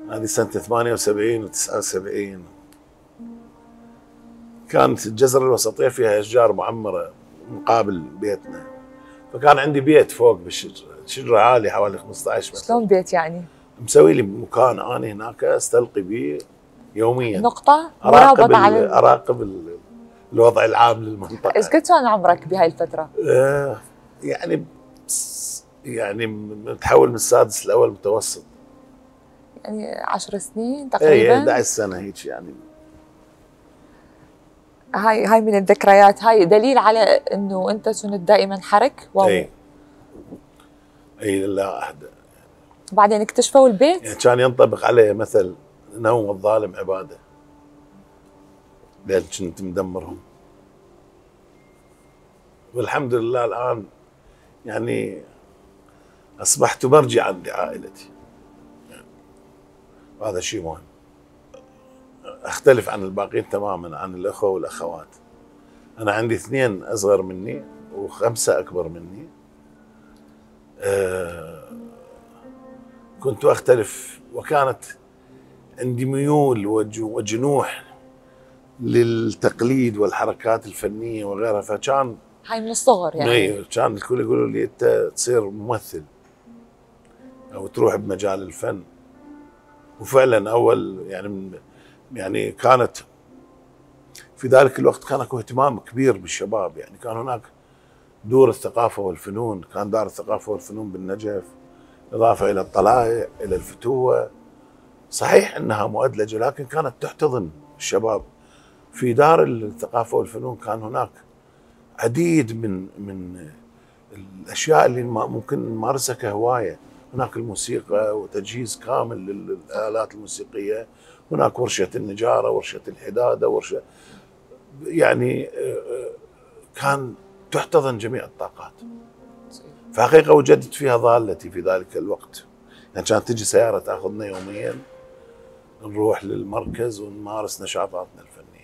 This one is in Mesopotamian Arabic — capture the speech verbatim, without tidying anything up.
هذه سنة ثمانية وسبعين وتسعة وسبعين. كانت الجزرة الوسطية فيها أشجار معمرة مقابل بيتنا، فكان عندي بيت فوق بالشجرة، شجرة عالية حوالي خمسة عشر متر. شلون بيت يعني؟ مسوي لي مكان أنا هناك أستلقي به يوميا، نقطة أراقب على أراقب الوضع العام للمنطقة. ايش قد كان عمرك بهاي الفترة؟ آه يعني يعني متحول من السادس الأول متوسط. يعني عشر سنين تقريبا؟ اي احد عشر سنة هيك يعني. هاي هاي من الذكريات، هاي دليل على انه انت كنت دائما حرك. واو. اي اي لا احد. بعدين اكتشفوا البيت؟ يعني كان ينطبق عليه مثل نوم الظالم عباده، لأن كنت مدمرهم. والحمد لله الآن يعني أصبحت مرجعا لعائلتي، وهذا شيء مهم. أختلف عن الباقين تماما، عن الأخوة والأخوات. أنا عندي اثنين أصغر مني وخمسة أكبر مني. أه كنت أختلف، وكانت عندي ميول وجنوح للتقليد والحركات الفنية وغيرها، فكان هاي من الصغر يعني. اي كان الكل يقولوا لي أنت تصير ممثل أو تروح بمجال الفن. وفعلا أول يعني يعني كانت في ذلك الوقت كان اكو اهتمام كبير بالشباب، يعني كان هناك دور الثقافة والفنون، كان دار الثقافة والفنون بالنجف، إضافة إلى الطلائع إلى الفتوة. صحيح أنها مؤدلجة لكن كانت تحتضن الشباب. في دار الثقافة والفنون كان هناك عديد من من الأشياء اللي ممكن نمارسها كهواية. هناك الموسيقى وتجهيز كامل للآلات الموسيقية، هناك ورشة النجارة، ورشة الحدادة، ورشة يعني كان تحتضن جميع الطاقات. فحقيقة وجدت فيها ضالتي في ذلك الوقت. يعني كانت تجي سيارة تأخذنا يوميا نروح للمركز ونمارس نشاطاتنا الفنية.